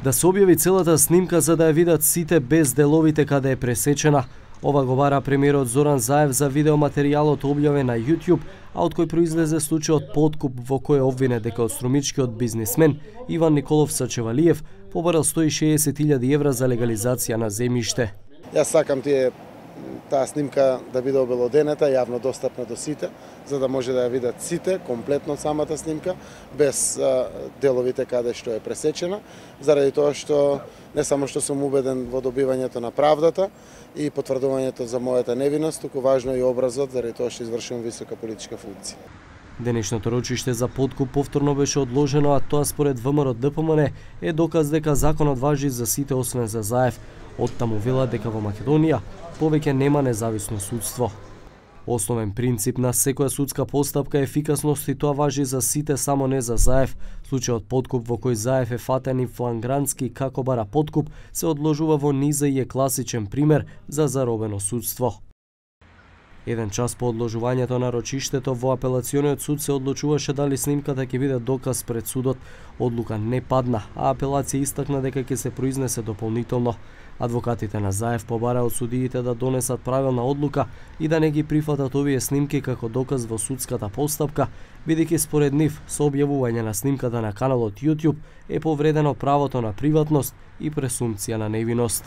Да се објави целата снимка за да ја видат сите без деловите каде е пресечена. Ова го бара премиерот Зоран Заев за видеоматеријалот објавен на YouTube, а од кој произлезе случајот подкуп во кој е обвинет дека од струмичкиот бизнисмен Иван Николов Сачевалиев побарал 160.000 евра за легализација на земјиште. Јас сакам таа снимка да биде обелоденета, јавно достапна до сите, за да може да ја видат сите, комплетно самата снимка, без деловите каде што е пресечена, заради тоа што не само што сум убеден во добивањето на правдата и потврдувањето за мојата невиност, туку важно и образот, заради тоа што извршувам висока политичка функција. Денешното рочиште за подкуп повторно беше одложено, а тоа според ВМРО-ДПМН е доказ дека законот важи за сите освен за Заев. Оттаму велат дека во Македонија повеќе нема независно судство. Основен принцип на секоја судска постапка е ефикасност и тоа важи за сите, само не за Заев. Случајот подкуп во кој Заев е фатен и флагрантски како бара подкуп се одложува во низа и е класичен пример за заробено судство. Еден час по одложувањето на рочиштето во апелациониот суд се одлучуваше дали снимката ќе биде доказ пред судот. Одлука не падна, а апелација истакна дека ќе се произнесе дополнително. Адвокатите на Заев побара од судиите да донесат правилна одлука и да не ги прифатат овие снимки како доказ во судската постапка, бидејќи според нив со објавување на снимката на каналот YouTube е повредено правото на приватност и пресумпција на невиност.